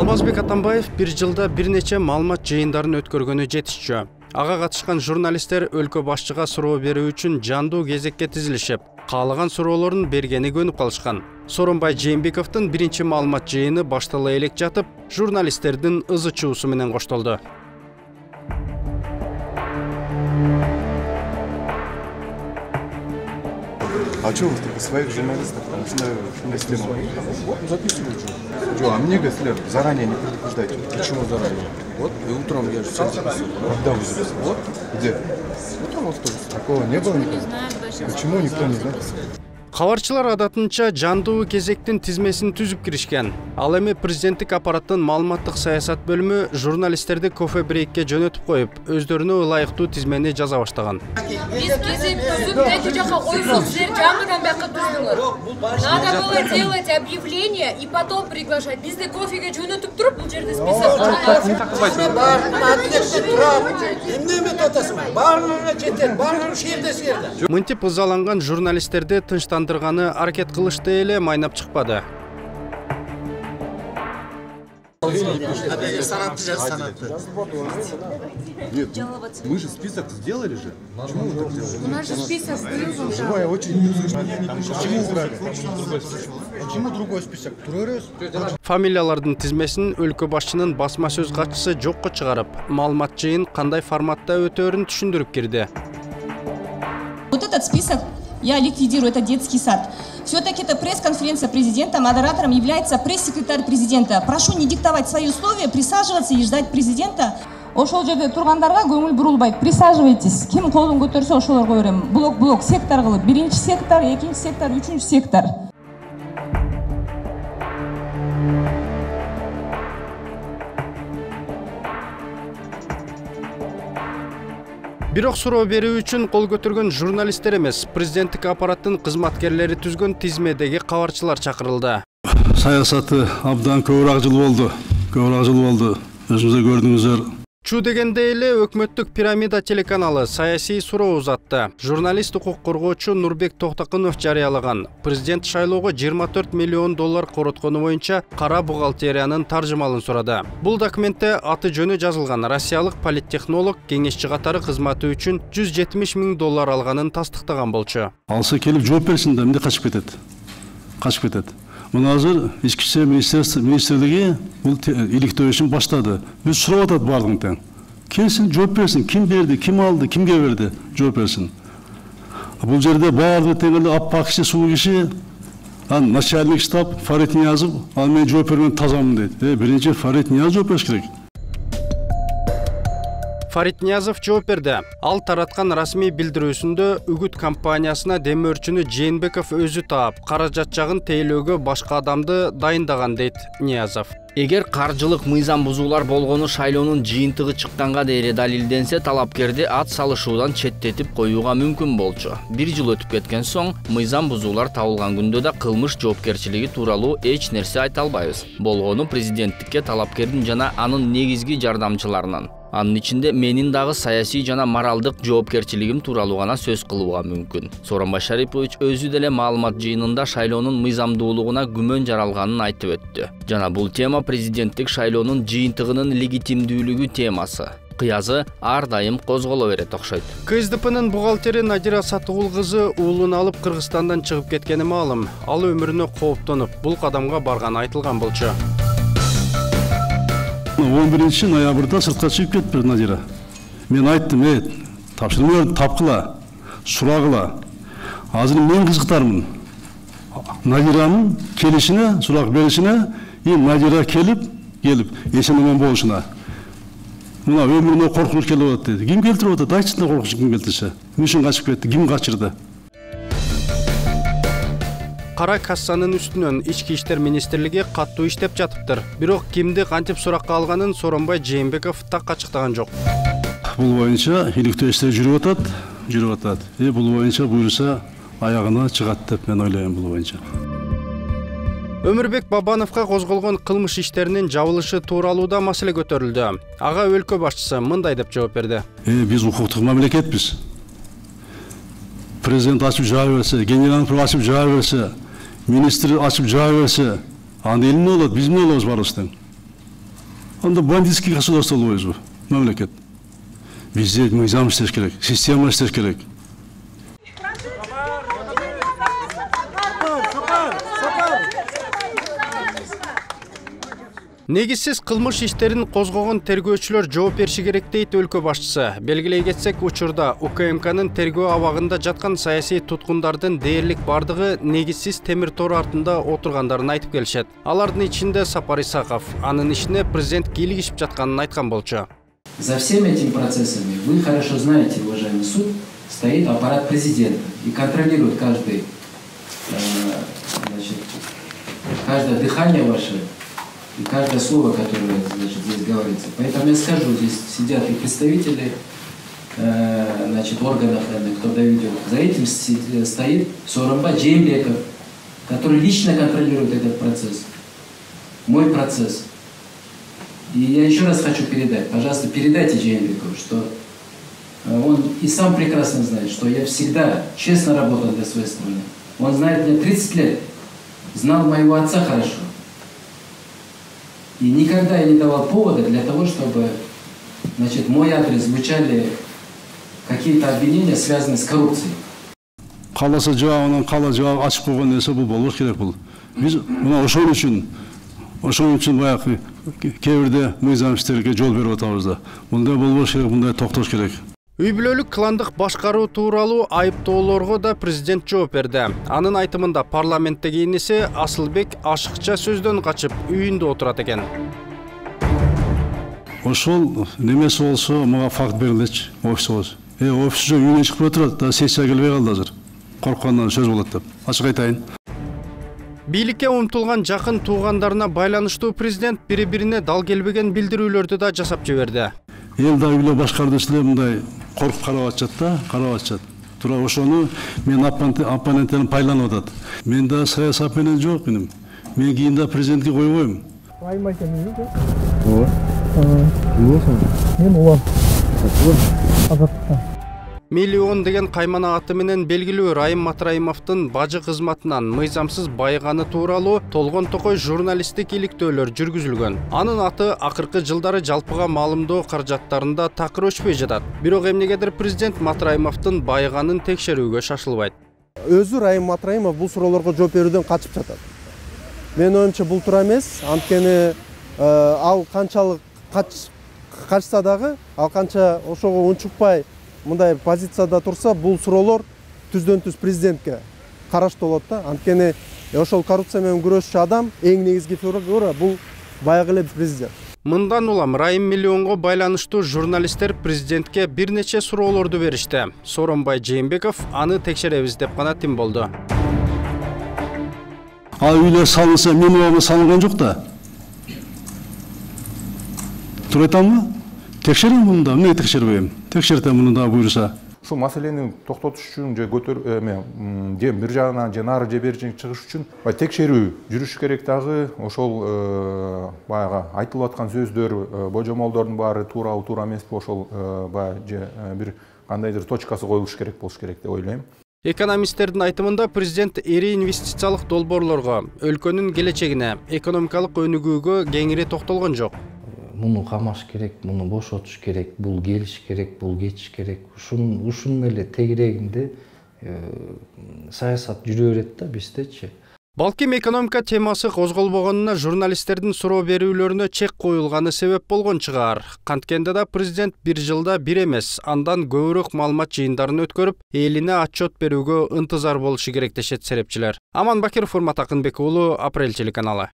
Алмазбек Атамбаев бир жылда бир нече маалымат жыйындарын өткөргөнү жетишчү. Ага катышкан журналисттер өлкө башчыга суроо берүү үчүн жандуу кезекке тизилишип, каалаган суроолорун бергени көнүп калышкан. Сооронбай Жээнбековдун биринчи маалымат жыйыны баштала элек жатып, журналисттердин ызы-чуусу менен коштолду. А что вы только своих журналистов там записываете? А мне говорят, заранее не предупреждайте. Почему заранее? Вот и утром я же все записывал. Когда вы записывали? Вот. Где? Утром автобус. Такого не было никогда? Почему никто не знает? Кабарчылар адатынча жандуу кезектин тизмесин түзүп киришкен. Ал эми президенттик аппараттын маалыматтык саясат бөлүмү журналисттерди кофе брейкке жөнөтүп коюп, өздөрүнө ылайыктуу тизмени жаза баштаган. Биз кезек түзүп, эки жака коюп, силер жаңыдан бияка түздүңөр. Надо было делать объявление и потом приглашать. Бизди кофеге жөнөтүп туруп, бул жерде список чыгат. Барлыгына жетет, барлыгы шерде. Мынтип ызаланган журналисттерди тынчтандырганы аракет кылышты эле майнап чыкпады. Нет, мы же список сделали же. Почему вы так делаете? У нас же список был уже. Живая очередь. Почему другой список? Фамилиялардын тизмесин өлкө башчынын басма сөз катчысы жокко чыгарып, маалымат жыйын кандай форматта өтөөрүн түшүндүрүп кирди. Вот этот список я ликвидирую, это детский сад. Все-таки это пресс-конференция президента, модератором является пресс-секретарь президента. Прошу не диктовать свои условия, присаживаться и ждать президента. Ошол жерде тургандарга көңүл бурулбайт. Присаживайтесь. Ким колун көтөрсө ошолорго берем. Блок сектор кылып. Биринчи сектор, экинчи сектор, үчүнчү сектор. Бирок суроо берүү үчүн кол көтөргөн журналисттер эмес, президенттик аппараттын кызматкерлери түзгөн тизмедеги кабарчылар чакырылды. Саясаты абдан көбүрөөк жыл болду. Өзүңүздөр көрдүңүздөр. Чу дегенде эле өкмөттүк пирамида телеканалы саясий суроо узатты. Журналист укук коргоочу Нурбек Токтокунов жарыялаган президент шайлоого $24 миллион короткону боюнча кара бухгалтериянын таржымалын сурады. Бул документте аты жөнү жазылган россиялык политтехнолог кеңешчи катары кызматы үчүн $170 миң алганын тастыктаган болчу. Алса келип жооп берсин да, эмне качып кетет. Мына азыр ички иштер министрлиги бул иликтөө ишин баштады. Биз сурап атат бардыгын тең. Келсин, жооп берсин, ким берди, ким алды, кимге берди, жооп берсин. Бул жерде баардыгы тең эле аппак киши, суу киши, начальник штаб Фарид Ниязов, ал мен жооп берген тазамын дейт. Биринчи Фарид Ниязов жооп бериш керек. Фарид Ниязов жооп берди. Ал тараткан расмий билдирүүсүндө үгүт компаниясына демөөрчүнү Жээнбеков өзү таап, каражат жагын тейлөөгө башка адамды дайындаган дейт Ниязов. Эгер каржылык мыйзам бузуулар болгону шайлоонун жыйынтыгы чыкканга дейре далилденсе, талапкерди ат салышуудан четтетип коюуга мүмкүн болчу. Бир жыл өтүп кеткен соң, мыйзам бузуулар табылган күндө да кылмыш жоопкерчилиги тууралуу эч нерсе айта албайбыз. Болгону президенттикке талапкердин жана анын негизги жардамчыларынын. Анын ичинде менин дагы саясий жана моралдык жоопкерчилигим тууралуу гана сөз кылууга мүмкүн. Сооронбай Шарипович өзү деле маалымат жыйынында шайлоонун мыйзамдуулугуна күмөн жаралганын айтып өттү. Жана бул тема президенттик шайлоонун жыйынтыгынын легитимдүүлүгү темасы. Кыязы ар дайым козголо берет окшойт. КСДПнын бухгалтери Надира Сатыгул кызы уулун алып Кыргызстандан чыгып кеткени маалым. Ал өмүрүнө кооптонуп, бул кадамга барганы айтылган болчу. 11 ноябрда сыртка чыгып кетти Надира. Мен айттым, тапшырмаларды тапкыла, сурагыла. Азыр мен кызыктармын. Надиранын келишине, сурак беришине, Надира келип, эсен-аман болушуна. Мына өмүрүнө коркунуч келип атат деди. Ким келтирип атат? Айтчы да, коркунуч ким келтирсе. Үчүн качып кетти, ким качырды? Кара кассанын үстүнөн ички иштер министрлиги каттуу иштеп жатыптыр. Бирок кимди кантип суракка алганын Сооронбай Жээнбеков так ачыктаган жок. Бул боюнча иликтөө иштер жүрүп атат. Бул боюнча буйруса аягына чыгат деп мен ойлойм бул боюнча. Өмүрбек Бабановго козголгон кылмыш иштеринин жабылышы тууралуу да маселе көтөрүлдү. Ага өлкө башчысы мындай деп жооп берди. Биз укуктук мамлекетпиз. Президент ачып жаап берсе, генерал ачып жаап берсе, министр ачып жаап берсе, анда эл эмне болот, биз эмне болобуз барыбыз тең. анда бандитский государство болобузбу, мамлекет. Бизде мыйзам иштеш керек, система иштеш керек. Негизсиз кылмыш иштерин козгогон тергөөчүлөр жооп бериши керек дейт өлкө башчысы. Белгилей кетсек, учурда УКМКнын тергөө абагында жаткан саясий туткундардын дээрлик бардыгы негизсиз темир тор артында отургандарын айтып келишет. Алардын ичинде Сапар Исаков анын ишине президент кийлигишип жатканын айткан болчу. За всеми этими процессами, вы хорошо знаете, уважаемый суд, стоит аппарат президента и контролирует каждое дыхание ваше и каждое слово, которое, значит, здесь говорится. Поэтому я скажу, здесь сидят и представители органов, кто доведет. За этим стоит Сооронбай Жээнбеков, который лично контролирует этот процесс. Мой процесс. И я еще раз хочу передать, пожалуйста, передайте Жээнбекову, что он и сам прекрасно знает, что я всегда честно работал для своей страны. Он знает меня 30 лет, знал моего отца хорошо. И никогда я не давал повода для того, чтобы, значит, мой адрес звучали какие-то обвинения, связанные с коррупцией. Каласа жабынан кала жабы ачып койгон нерсе бул болбош керек бул. Биз мына ошон үчүн баягы кээ бирде мыйзам иштерге жол берип атабыз да. Мындай болбош керек, мындай токтош керек. Үй бүлөлүк кландык башкаруу тууралуу айыптоолорго да президент жооп берди. Анын айтымында парламенттеги иниси Асылбек ашыкча сөздөн качып үйүндө отурат экен. Ошол немеси болсо мага факт берилечи, офисибиз. Офисчу үйүнөн чыгып отурат, да сессия келбей калды азыр. Корккондон сөз болот деп. Ачык айтайын. Бийликке умтулган жакын туугандарына байланыштуу президент бири-бирине дал келбеген билдирүүлөрдү да жасап жиберди. Эл да үйлө башкаруучулар мындай коркуп карап атышат да, карап атышат. Тура ошону мен оппоненттерим пайдаланып атат. Мен да саясат менен жок меним. Мен кийин да президентке койбойм. Райым айтамын. Ооба. Мен улам. Азаттыктан. Миллион деген каймана аты менен белгилүү Райым Матраимовдун бажы кызматынан мыйзамсыз байыганы тууралуу толгон токой журналисттик иликтөөлөр жүргүзүлгөн. Анын аты акыркы жылдары жалпыга маалымдоо каражаттарында такыр өчпөй жатат. Бирок эмнегедир президент Матраимовдун байыганын текшерүүгө шашылбайт. Өзү Райым Матраимов бул суроолорго жооп берүүдөн качып жатат. Мен оюмча бул туура эмес, анткени ал канчалык качса дагы, ал канча ошого унчукпай мындай позицияда турса, бул суроолор түздөн-түз президентке караштуу болот да. Анткени ошол коррупция менен күрөшчү адам эң негизги фигура бул баягы эле президент. Мындан улам Райым миллионго байланыштуу журналисттер президентке бир нече суроолорду беришти. Сооронбай Жээнбеков аны текшеребиз деп гана тим болду. Үйлөр салынса, мен убагында салынган жок да. Туура айтамбы? Текшерем муну да, эмне текшербейм? Текшертем муну да буйруса. Ушул маселени токтотуш үчүн же же бир жагынан же нары же бери чыгыш үчүн текшерүү жүрүш керек дагы. Ошол баягы айтылып аткан сөздөр, божомолдордун баары туурабы, туура эмеспи, ошол же бир кандайдыр точкасы коюлуш керек болуш керек деп ойлойм. Экономисттердин айтымында президент ири инвестициялык долбоорлорго, өлкөнүн келечегине, экономикалык өнүгүүгө кеңири токтолгон жок. Муну камаш керек, муну бошотуш керек, бул келиш керек, бул кетиш керек. Ушунун эле тегерегинде саясат жүрө берет да биздечи. Балким экономика темасы козголбогонуна журналисттердин суроо берүүлөрүнө чек коюлганы себеп болгон чыгар. Канткенде да президент бир жылда бир эмес, андан көбүрөөк маалымат жыйындарын өткөрүп, элине отчет берүүгө ынтызар болушу керек дешет серепчилер. Аман Бакиров, Урмат Акынбек уулу, Апрель телеканалы.